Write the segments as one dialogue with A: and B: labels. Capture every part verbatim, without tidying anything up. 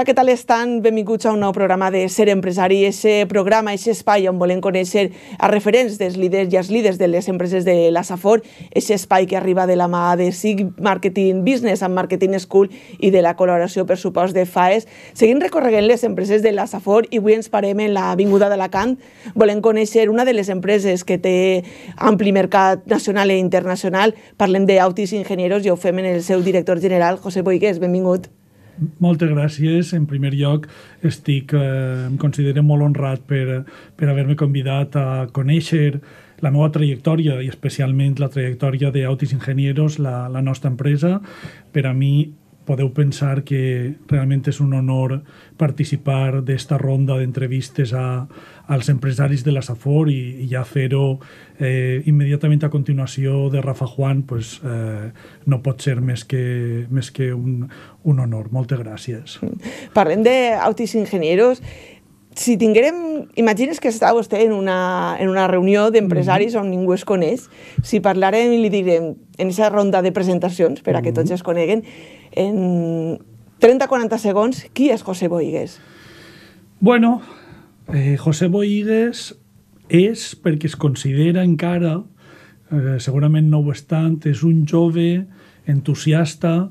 A: Hola, què tal estan? Benvinguts a un nou programa de Ser Empresari, aquest programa, aquest espai on volem conèixer a referents dels líders i els líders de les empreses de la Safor, aquest espai que arriba de la mà de S I G Marketing Business and Marketing School i de la col·laboració, per supost, de FAES. Seguim recorregant les empreses de la Safor i avui ens parem en l'Avinguda d'Alacant. Volem conèixer una de les empreses que té ampli mercat nacional i internacional. Parlem d'Autis Ingenieros i ho fem en el seu director general, José Boigués. Benvingut.
B: Moltes gràcies. En primer lloc, estic, eh, em considero molt honrat per, per haver-me convidat a conèixer la meva trajectòria i especialment la trajectòria d'Autis Ingenieros, la, la nostra empresa. Per a mi podeu pensar que realment és un honor participar d'esta ronda d'entrevistes a, als empresaris de la Safor i, i ja fer-ho eh, immediatament a continuació de Rafa Juan, pues, eh, no pot ser més que, més que un, un honor. Moltes gràcies.
A: Parlem d'Autis Ingenieros. Si tinguérem, imagines que està vostè en una, en una reunió d'empresaris mm-hmm. on ningú es coneix, si parlarem i li direm en aquesta ronda de presentacions, per a que tots es coneguen, en trenta a quaranta segons, qui és José Boigués?
B: Bueno, eh, José Boigués és, perquè es considera encara, eh, segurament no ho és tant, és un jove entusiasta,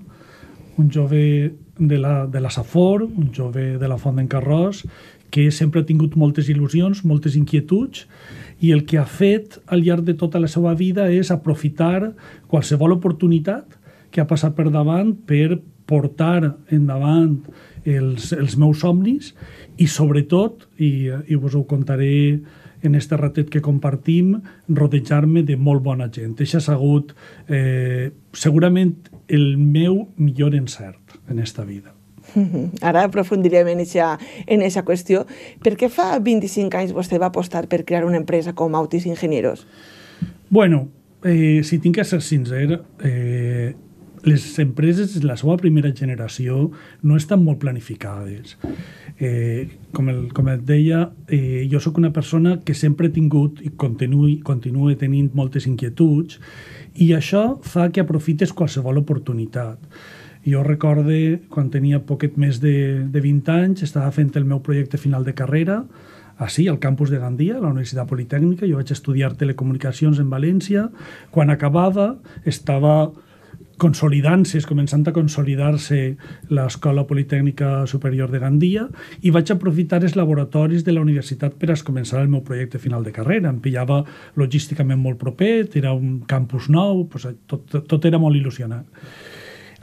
B: un jove de la, de la Safor, un jove de la Font d'en Carròs, que sempre ha tingut moltes il·lusions, moltes inquietuds, i el que ha fet al llarg de tota la seva vida és aprofitar qualsevol oportunitat que ha passat per davant per portar endavant els, els meus somnis i, sobretot, i, i us ho contaré en este ratet que compartim, rodejar-me de molt bona gent. Això ha sigut eh, segurament el meu millor encert en esta vida.
A: Ara aprofundirem en aquesta qüestió. Per què fa vint-i-cinc anys vostè va apostar per crear una empresa com Autis Ingenieros?
B: Bueno, eh, si tinc que ser sincer, eh, les empreses de la seva primera generació no estan molt planificades. Eh, com, el, com et deia, eh, jo sóc una persona que sempre he tingut i continue, continue tenint moltes inquietuds i això fa que aprofites qualsevol oportunitat. Jo recorde, quan tenia poquet més de, de vint anys, estava fent el meu projecte final de carrera, així, al campus de Gandia, a la Universitat Politècnica. Jo vaig estudiar telecomunicacions en València. Quan acabava, estava consolidant-se, començant a consolidar-se l'Escola Politècnica Superior de Gandia i vaig aprofitar els laboratoris de la universitat per a començar el meu projecte final de carrera. Em pillava logísticament molt proper, era un campus nou, tot, tot era molt il·lusionant.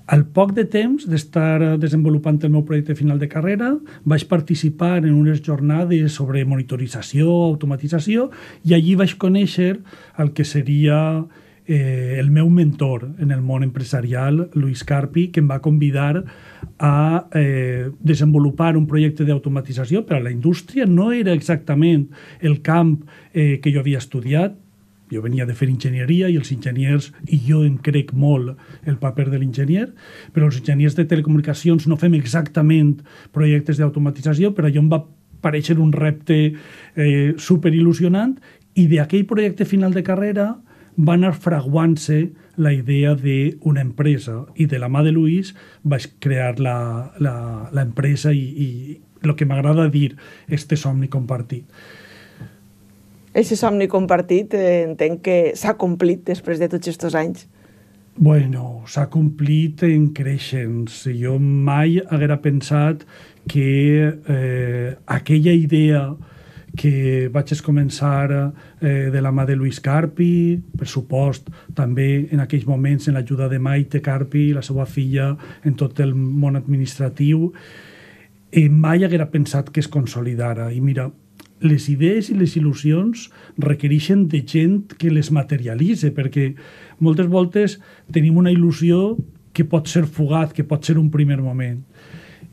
B: Al poc de temps d'estar desenvolupant el meu projecte final de carrera, vaig participar en unes jornades sobre monitorització, automatització, i allí vaig conèixer el que seria eh, el meu mentor en el món empresarial, Luis Carpi, que em va convidar a eh, desenvolupar un projecte d'automatització per a la indústria. No era exactament el camp eh, que jo havia estudiat. Jo venia de fer enginyeria i els enginyers, i jo em crec molt el paper de l'enginyer, però els enginyers de telecomunicacions no fem exactament projectes d'automatització, però allò em va parèixer un repte eh, superil·lusionant i d'aquell projecte final de carrera va anar fraguant-se la idea d'una empresa i de la mà de Luis vaig crear l'empresa i, i el que m'agrada dir, este somni compartit.
A: Aquest somni compartit eh, entenc que s'ha complit després de tots aquests anys.
B: Bueno, s'ha complit en creixents. Jo mai haguera pensat que eh, aquella idea que vaig començar eh, de la mà de Luis Carpi, per supost, també en aquells moments en l'ajuda de Maite Carpi, la seva filla, en tot el món administratiu, eh, mai haguera pensat que es consolidara. I mira, les idees i les il·lusions requereixen de gent que les materialitza, perquè moltes voltes tenim una il·lusió que pot ser fugat, que pot ser un primer moment.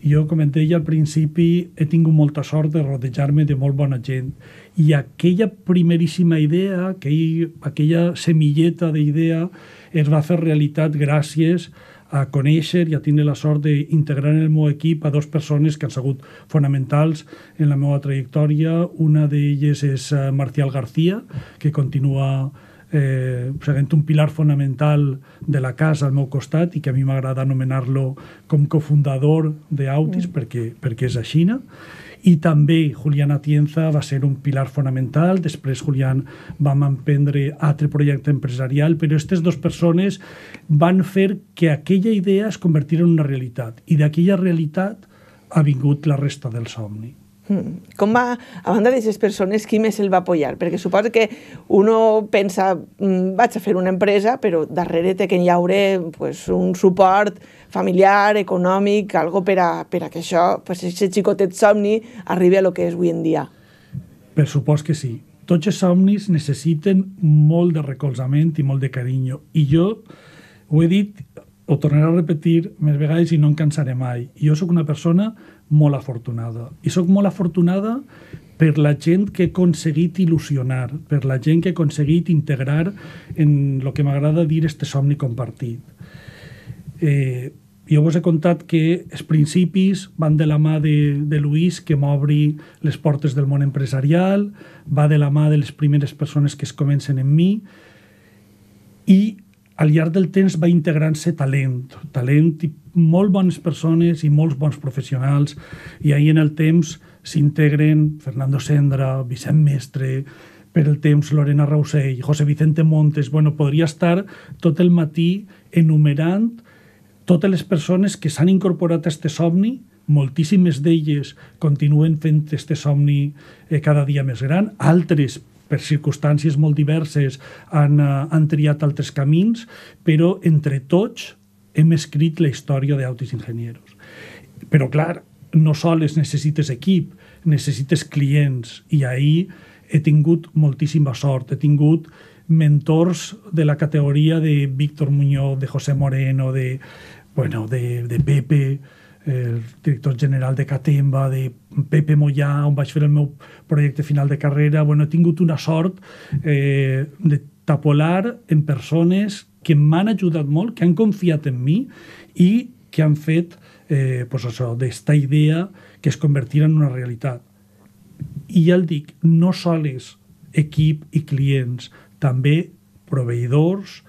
B: Jo, com et deia al principi, he tingut molta sort de rodejar-me de molt bona gent. I aquella primeríssima idea, aquell, aquella semilleta d'idea, es va fer realitat gràcies a conèixer i a tenir la sort d'integrar en el meu equip a dues persones que han sigut fonamentals en la meva trajectòria. Una d'elles és Marcial García, que continua eh, seguint un pilar fonamental de la casa al meu costat i que a mi m'agrada anomenar-lo com cofundador d'Autis, mm. perquè, perquè és així. I també Julián Atienza va ser un pilar fonamental. Després Julián vam emprendre altre projecte empresarial, però aquestes dues persones van fer que aquella idea es convertís en una realitat, i d'aquella realitat ha vingut la resta del somni.
A: Mm. Com va, a banda d'aquestes persones, qui més el va apoyar? Perquè suposo que uno pensa, mm, vaig a fer una empresa, però darrere té que hi haurà pues, un suport familiar, econòmic, algo per a, per a que això, pues, aquest xicotet somni arribi a lo que és avui en dia.
B: Per supost que sí. Tots els somnis necessiten molt de recolzament i molt de carinyo. I jo ho he dit, ho tornaré a repetir més vegades i no em cansaré mai. Jo sóc una persona molt afortunada. I sóc molt afortunada per la gent que he aconseguit il·lusionar, per la gent que he aconseguit integrar en el que m'agrada dir este somni compartit. Eh, jo vos he contat que els principis van de la mà de, de Luis, que m'obri les portes del món empresarial, va de la mà de les primeres persones que es comencen en mi, i al llarg del temps va integrant-se talent, talent i molt bones persones i molts bons professionals, i ahir en el temps s'integren Fernando Sendra, Vicent Mestre, per el temps Lorena Rousell, José Vicente Montes. Bueno, podria estar tot el matí enumerant totes les persones que s'han incorporat a este somni. Moltíssimes d'elles continuen fent este somni eh, cada dia més gran, altres per circumstàncies molt diverses han, uh, han triat altres camins, però entre tots hem escrit la història d'Autis Ingenieros. Però clar, no sols necessites equip, necessites clients, i ahir he tingut moltíssima sort. He tingut mentors de la categoria de Víctor Muñoz, de José Moreno, de, bueno, de, de Pepe, el director general de Catemba, de Pepe Mollà, on vaig fer el meu projecte final de carrera. Bueno, he tingut una sort eh, de tapolar en persones que m'han ajudat molt, que han confiat en mi i que han fet eh, pues això, d'esta idea que es convertirà en una realitat. I ja el dic, no sols equip i clients, també proveïdors,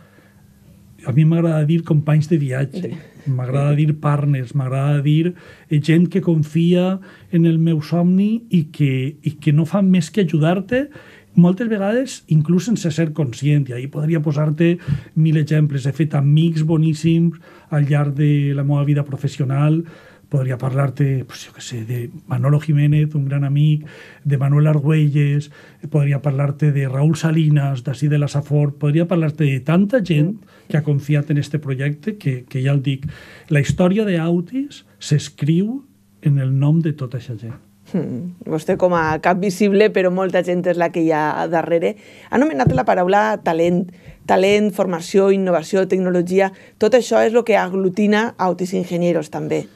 B: a mi m'agrada dir companys de viatge, m'agrada dir partners, m'agrada dir gent que confia en el meu somni i que, i que no fa més que ajudar-te, moltes vegades inclús sense ser conscient. I ahir podria posar-te mil exemples. He fet amics boníssims al llarg de la meva vida professional. Podria parlar-te, pues, jo què sé, de Manolo Jiménez, un gran amic, de Manuel Argüelles, podria parlar-te de Raúl Salinas, d'ací de la Safor, podria parlar-te de tanta gent que ha confiat en este projecte que, que ja el dic. La història d'Autis s'escriu en el nom de tota aquesta gent.
A: Hmm. Vostè com a cap visible, però molta gent és la que hi ha darrere. Ha anomenat la paraula talent. Talent, formació, innovació, tecnologia. Tot això és el que aglutina Autis Ingenieros també.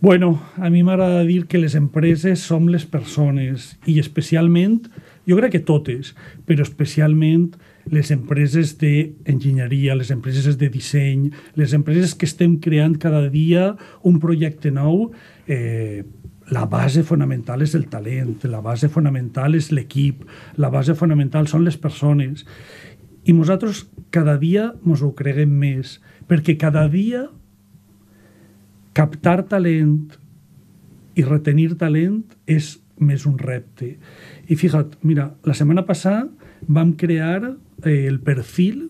B: Bueno, a mi m'agrada dir que les empreses som les persones, i especialment, jo crec que totes, però especialment les empreses d'enginyeria, les empreses de disseny, les empreses que estem creant cada dia un projecte nou. eh, la base fonamental és el talent, la base fonamental és l'equip, la base fonamental són les persones. I nosaltres cada dia ens ho creguem més, perquè cada dia captar talent i retenir talent és més un repte. I fíjate, mira, la setmana passada vam crear eh, el perfil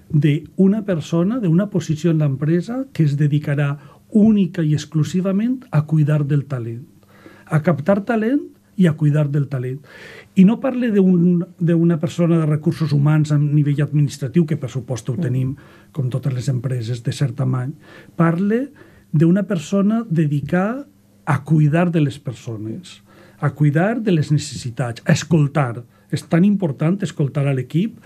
B: d'una persona, d'una posició en l'empresa que es dedicarà única i exclusivament a cuidar del talent, a captar talent i a cuidar del talent. I no parle d'una persona de recursos humans a nivell administratiu, que per supost ho tenim, com totes les empreses de cert tamany. Parle d'una persona dedicada a cuidar de les persones, a cuidar de les necessitats, a escoltar. És tan important escoltar a l'equip,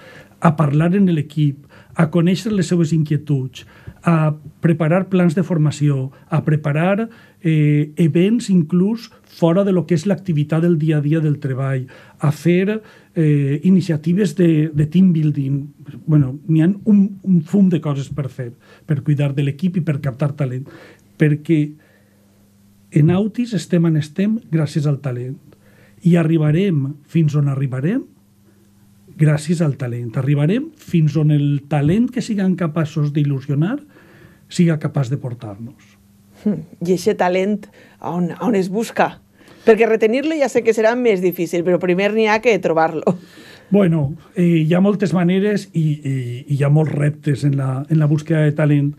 B: a parlar en l'equip, a conèixer les seves inquietuds, a preparar plans de formació, a preparar eh, events inclús fora de lo que és l'activitat del dia a dia del treball, a fer eh, iniciatives de, de team building. Bueno, n'hi ha un, un fum de coses per fer, per cuidar de l'equip i per captar talent. Perquè en Autis estem on estem gràcies al talent. I arribarem fins on arribarem gràcies al talent. Arribarem fins on el talent que siguem capaços d'il·lusionar siga capaç de portar-nos.
A: I aquest talent, on, on es busca? Perquè retenir-lo ja sé que serà més difícil, però primer n'hi ha que trobar-lo.
B: Bueno, eh, hi ha moltes maneres i, i, i hi ha molts reptes en la, en la búsqueda de talent.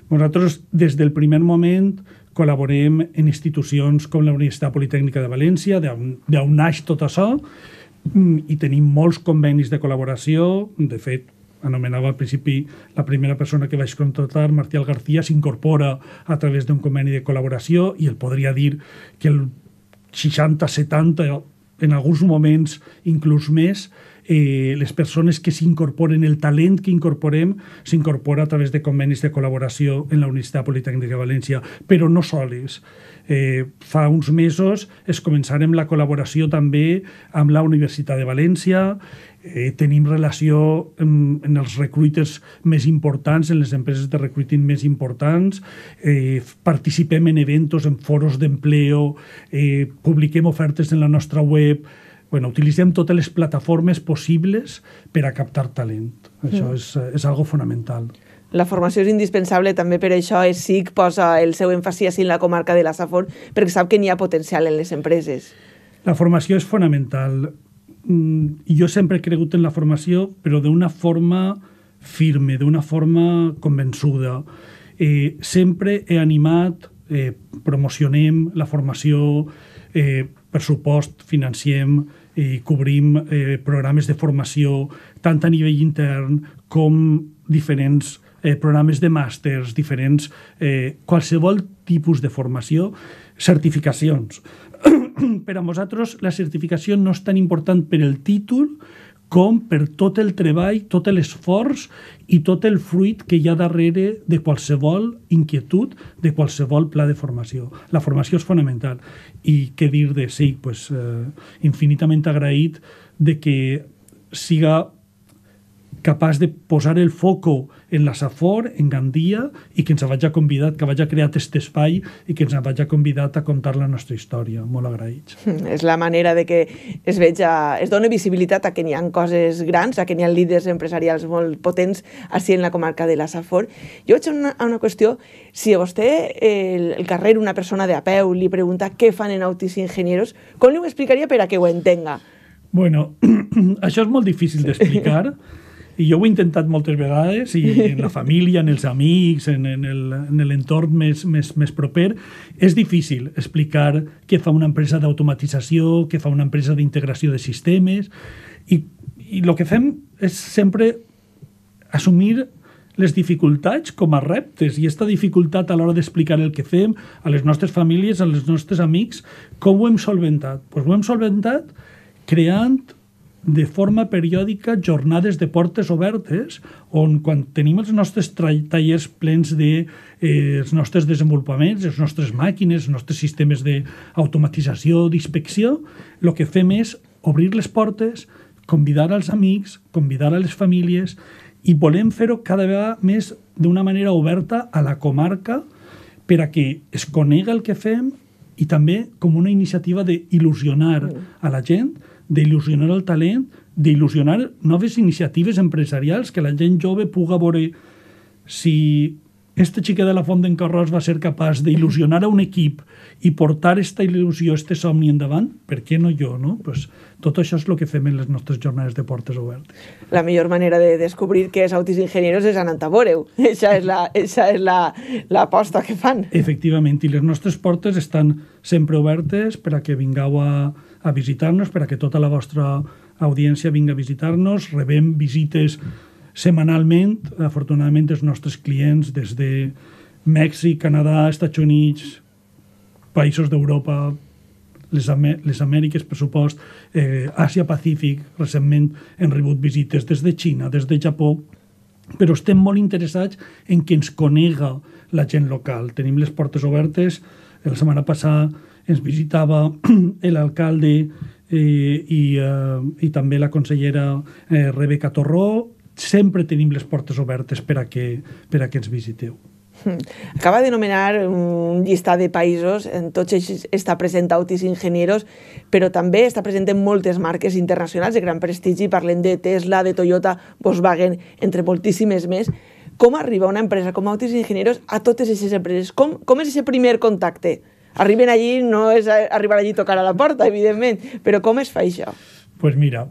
B: Nosaltres, des del primer moment, col·laborem en institucions com la Universitat Politècnica de València, d'on naix tot això, i tenim molts convenis de col·laboració. De fet, anomenava al principi la primera persona que vaig contractar, Martial García, s'incorpora a través d'un conveni de col·laboració i el podria dir que el seixanta setanta, en alguns moments inclús més, eh, les persones que s'incorporen, el talent que incorporem, s'incorpora a través de convenis de col·laboració en la Universitat Politècnica de València, però no soles. Eh, fa uns mesos es començarem la col·laboració també amb la Universitat de València. Eh, tenim relació en, en els recruiters més importants, en les empreses de recruiting més importants, eh, participem en eventos, en foros d'empleo, eh, publiquem ofertes en la nostra web. Bueno, utilitzem totes les plataformes possibles per a captar talent. Això mm. és, és algo fonamental.
A: La formació és indispensable, també per això S I C posa el seu èmfasi en la comarca de la Safor, perquè sap que n'hi ha potencial en les empreses.
B: La formació és fonamental. I jo sempre he cregut en la formació, però d'una forma firme, d'una forma convençuda. Eh, sempre he animat, eh, promocionem la formació, eh, pressupost, financiem, i cobrim eh, programes de formació tant a nivell intern com diferents eh, programes de màsters, diferents, eh, qualsevol tipus de formació, certificacions. Per a nosaltres la certificació no és tan important per el títol com per tot el treball, tot l'esforç i tot el fruit que hi ha darrere de qualsevol inquietud, de qualsevol pla de formació. La formació és fonamental. I què dir de S I C? Pues, eh, infinitament agraït de que siga capaç de posar el foco en la Safor, en Gandia, i que ens hagi convidat, que hagi creat aquest espai i que ens hagi convidat a contar la nostra història. Molt agraïts.
A: És la manera de que es veja, es doni visibilitat a que n'hi ha coses grans, a que n'hi ha líders empresarials molt potents així en la comarca de la Safor. Jo vaig a una, a una qüestió. Si a vostè, el, el carrer, una persona de a peu, li pregunta què fan en Autis Ingenieros, com li ho explicaria per a que ho entenga?
B: Bueno, això és molt difícil d'explicar. I jo ho he intentat moltes vegades, i en la família, en els amics, en, en l'entorn més, més, més proper. És difícil explicar què fa una empresa d'automatització, què fa una empresa d'integració de sistemes, i, i el que fem és sempre assumir les dificultats com a reptes, i aquesta dificultat a l'hora d'explicar el que fem a les nostres famílies, a les nostres amics, com ho hem solventat? Pues ho hem solventat creant de forma periòdica jornades de portes obertes on quan tenim els nostres tallers plens de eh, els nostres desenvolupaments, les nostres màquines, els nostres sistemes d'automatització, d'inspecció, el que fem és obrir les portes, convidar als amics, convidar a les famílies, i volem fer-ho cada vegada més d'una manera oberta a la comarca per a que es conega el que fem i també com una iniciativa d'il·lusionar a la gent, d'il·lusionar el talent, d'il·lusionar noves iniciatives empresarials, que la gent jove puga veure si este xiquet de la Font d'en Carròs va ser capaç d'il·lusionar a un equip i portar esta il·lusió, este somni endavant, per què no jo, no? Pues tot això és el que fem en les nostres jornades de portes obertes.
A: La millor manera de descobrir què és Autis Ingenieros és anant a veure-ho. Eixa és la, eixa és la, l'aposta que fan.
B: Efectivament, i les nostres portes estan sempre obertes per a que vingueu a, a visitar-nos, per a que tota la vostra audiència vinga a visitar-nos. Rebem visites setmanalment. Afortunadament, els nostres clients des de Mèxic, Canadà, Estats Units, països d'Europa, les, Amè les Amèriques, per supost, eh, Àsia-Pacífic, recentment hem rebut visites des de Xina, des de Japó, però estem molt interessats en que ens conega la gent local. Tenim les portes obertes. La setmana passada ens visitava l'alcalde eh, i, eh, i també la consellera eh, Rebeca Torró. Sempre tenim les portes obertes per a que, per a que ens visiteu.
A: Acaba de nomenar un llistat de països, en tots ells està present Autis Ingenieros, però també està present en moltes marques internacionals de gran prestigi, parlem de Tesla, de Toyota, Volkswagen, entre moltíssimes més. Com arriba una empresa com Autis Ingenieros a totes aquestes empreses? Com, com és aquest primer contacte? Arriben allí, no és arribar allí i tocar a la porta, evidentment, però com es fa això?
B: Pues mira,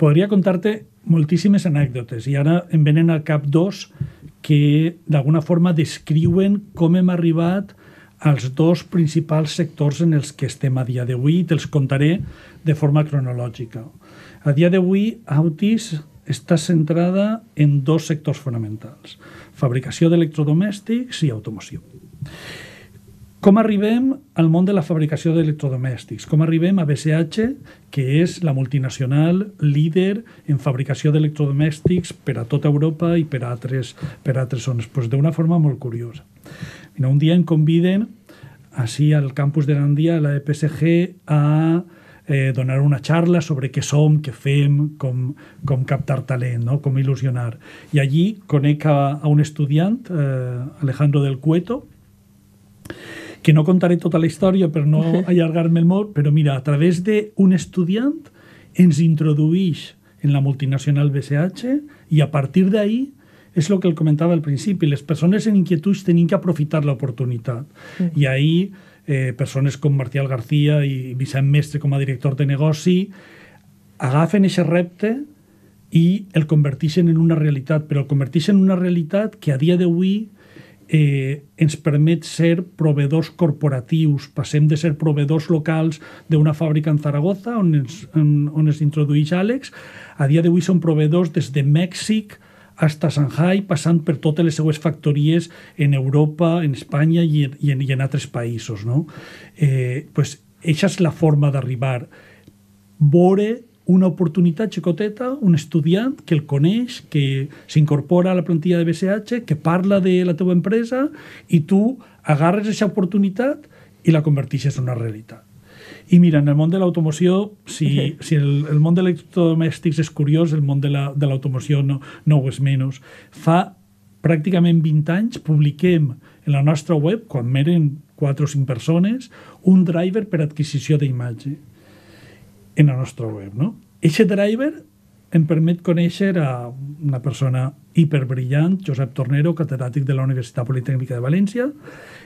B: podria contar-te moltíssimes anècdotes i ara em venen al cap dos que d'alguna forma descriuen com hem arribat als dos principals sectors en els que estem a dia d'avui i te'ls contaré de forma cronològica. A dia d'avui, Autis està centrada en dos sectors fonamentals, fabricació d'electrodomèstics i automoció. Com arribem al món de la fabricació d'electrodomèstics? Com arribem a B C H, que és la multinacional líder en fabricació d'electrodomèstics per a tota Europa i per a altres, per a altres zones? Pues d'una forma molt curiosa. Mira, un dia em conviden així al campus de Gandia, a la E P S G, a eh, donar una xarra sobre què som, què fem, com, com captar talent, no? Com il·lusionar. I allí conec a, a un estudiant, eh, Alejandro del Cueto, que no contaré tota la història per no allargar-me el molt, però mira, a través d'un estudiant ens introduïx en la multinacional B C H i a partir d'ahí és el que el comentava al principi, les persones en inquietuds tenien que aprofitar l'oportunitat. Mm. I ahí eh, persones com Marcial García i Vicent Mestre com a director de negoci agafen aquest repte i el converteixen en una realitat, però el converteixen en una realitat que a dia d'avui Eh, ens permet ser proveedors corporatius. Passem de ser proveedors locals d'una fàbrica en Zaragoza, on es, on, on es introdueix Àlex. A dia d'avui són proveedors des de Mèxic fins a Shanghai, passant per totes les seues factories en Europa, en Espanya i en, i en, i en altres països. No? Eh, pues, eixa és la forma d'arribar. Veure una oportunitat xicoteta, un estudiant que el coneix, que s'incorpora a la plantilla de B C H, que parla de la teva empresa i tu agarres aquesta oportunitat i la converteixes en una realitat. I mira, en el món de l'automoció, si, si el, el món de electrodomèstics és curiós, el món de l'automoció no, no ho és menys. Fa pràcticament vint anys publiquem en la nostra web, quan eren quatre o cinc persones, un driver per adquisició d'imatge en la nostra web, no? Eixe driver em permet conèixer a una persona hiperbrillant, Josep Tornero, catedràtic de la Universitat Politècnica de València,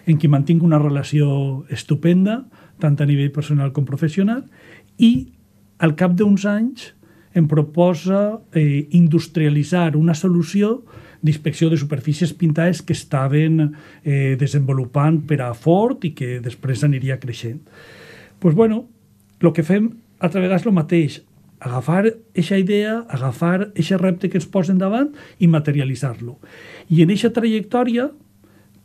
B: en qui mantinc una relació estupenda, tant a nivell personal com professional, i al cap d'uns anys em proposa eh, industrialitzar una solució d'inspecció de superfícies pintades que estaven eh, desenvolupant per a Ford i que després aniria creixent. Doncs, pues bueno, el que fem altra vegada és el mateix, agafar aquesta idea, agafar aquest repte que ens posen davant i materialitzar-lo. I en aquesta trajectòria,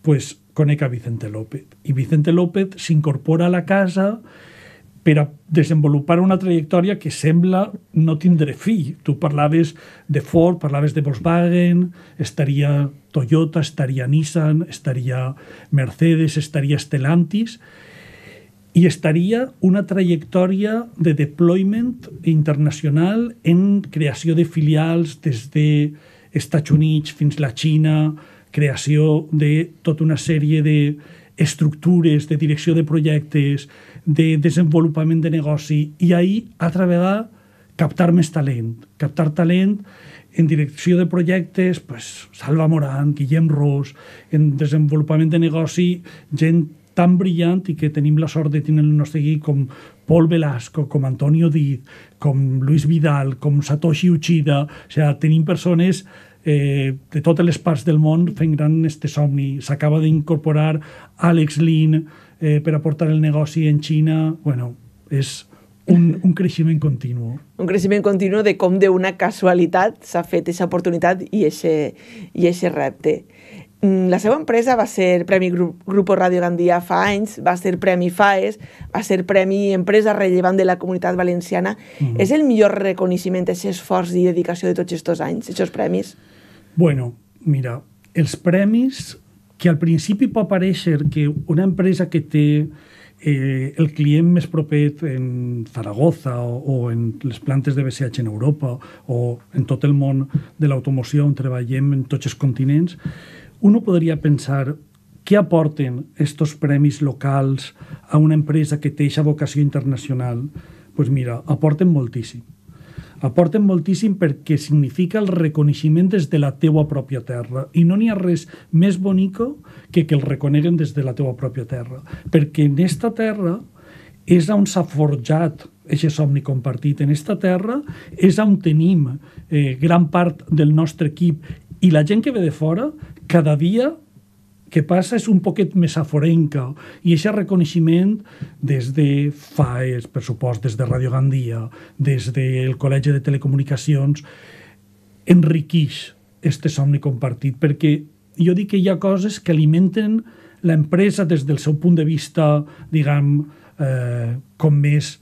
B: pues, conec a Vicente López. I Vicente López s'incorpora a la casa per a desenvolupar una trajectòria que sembla no tindre fi. Tu parlaves de Ford, parlaves de Volkswagen, estaria Toyota, estaria Nissan, estaria Mercedes, estaria Stellantis, i estaria una trajectòria de deployment internacional en creació de filials des dels Estats Units fins a la Xina, creació de tota una sèrie d'estructures, de direcció de projectes, de desenvolupament de negoci, i ahir, altra vegada, captar més talent. Captar talent en direcció de projectes, pues, Salva Morant, Guillem Ros, en desenvolupament de negoci, gent tan brillant i que tenim la sort de tenir el nostre equip com Paul Velasco, com Antonio Diz, com Luis Vidal, com Satoshi Uchida. O sigui, tenim persones eh, de totes les parts del món fent gran este somni. S'acaba d'incorporar Alex Lin eh, per aportar el negoci en Xina. Bueno, és un, un creixement continu.
A: Un creixement continu de com d'una casualitat s'ha fet aquesta oportunitat i aquest repte. La seva empresa va ser Premi Grupo Radio Gandia fa anys, va ser Premi FAES, va ser Premi Empresa Rellevant de la Comunitat Valenciana. Mm. És el millor reconeixement, aquest esforç i dedicació de tots aquests anys, aquests premis?
B: Bueno, mira, els premis, que al principi pot parèixer que una empresa que té eh, el client més proper en Zaragoza o, o en les plantes de B C H en Europa o en tot el món de l'automoció on treballem en tots els continents, uno podria pensar què aporten estos premis locals a una empresa que té aquesta vocació internacional? Doncs pues mira, aporten moltíssim. Aporten moltíssim perquè significa el reconeixement des de la teua pròpia terra. I no n'hi ha res més bonico que que el reconeguen des de la teua pròpia terra. Perquè en esta terra és on s'ha forjat aquest somni compartit. En esta terra és on tenim eh, gran part del nostre equip. I la gent que ve de fora, cada dia que passa és un poquet més aforenca, i aquest reconeixement des de FAES, per supost, des de Radio Gandia, des del Col·legi de Telecomunicacions, enriqueix este somni compartit, perquè jo dic que hi ha coses que alimenten l'empresa des del seu punt de vista, diguem, eh, com més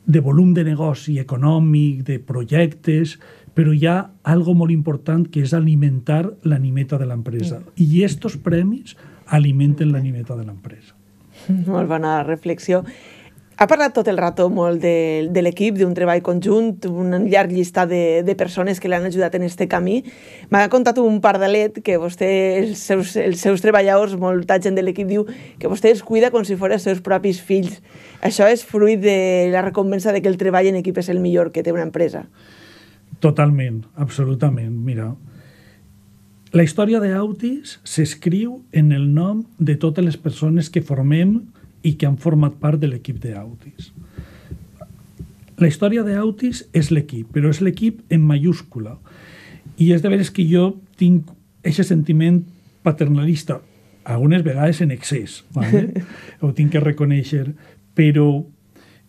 B: de volum de negoci econòmic, de projectes, però hi ha algo molt important que és alimentar l'animeta de l'empresa. I estos premis alimenten l'animeta de l'empresa.
A: Molt bona reflexió. Ha parlat tot el rato molt de, de l'equip, d'un treball conjunt, un llarg llistat de, de persones que l'han ajudat en este camí. M'ha contat un pardalet que vostè, els seus, els seus treballadors, molta gent de l'equip diu que vostè els cuida com si fos els seus propis fills. Això és fruit de la recompensa de que el treball en equip és el millor que té una empresa.
B: Totalment, absolutament. Mira, la història d'Autis s'escriu en el nom de totes les persones que formem i que han format part de l'equip d'Autis. La història d'Autis és l'equip, però és l'equip en mayúscula. I és de veres que jo tinc aquest sentiment paternalista, algunes vegades en excés, ¿vale? Ho tinc que reconèixer, però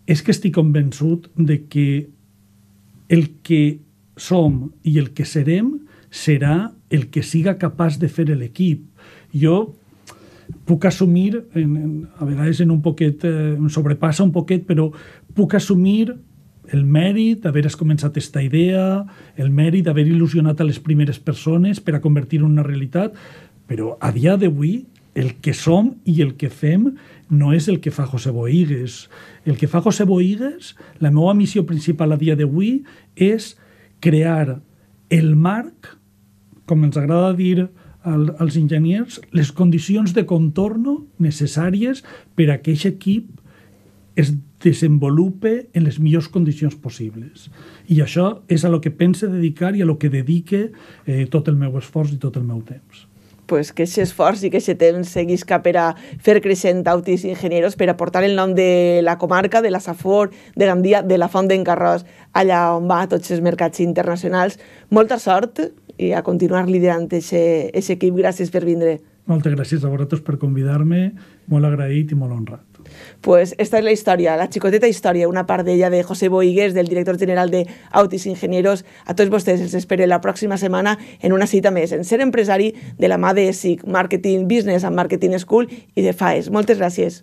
B: és que estic convençut de que el que som i el que serem serà el que siga capaç de fer l'equip. Jo puc assumir, en, en, a vegades en un poquet, eh, em sobrepassa un poquet, però puc assumir el mèrit d'haver començat aquesta idea, el mèrit d'haver il·lusionat a les primeres persones per a convertir-ho en una realitat, però a dia d'avui el que som i el que fem no és el que fa José Boigues. El que fa José Boigues, la meva missió principal a dia d'avui és crear el marc, com ens agrada dir al, als enginyers, les condicions de contorno necessàries per a que aquest equip es desenvolupe en les millors condicions possibles. I això és a lo que pense dedicar i a lo que dedique eh, tot el meu esforç i tot el meu temps.
A: Pues que aquest esforç i que aquest temps seguisca per a fer creixent Autis Ingenieros, per a portar el nom de la comarca, de la Safor, de Gandia, de la Font d'en Carròs, allà on va a tots els mercats internacionals. Molta sort i a continuar liderant aquest equip. Gràcies per vindre.
B: Moltes gràcies a vosaltres per convidar-me, molt agraït i molt honrat.
A: Pues esta és la història, la xicoteta història, una part d'ella de José Boigues, del director general de Autis Ingenieros. A tots vostès els espero la pròxima setmana en una cita més, en Ser Empresari, de la mà de S I C, Marketing Business and Marketing School i de FAES. Moltes gràcies.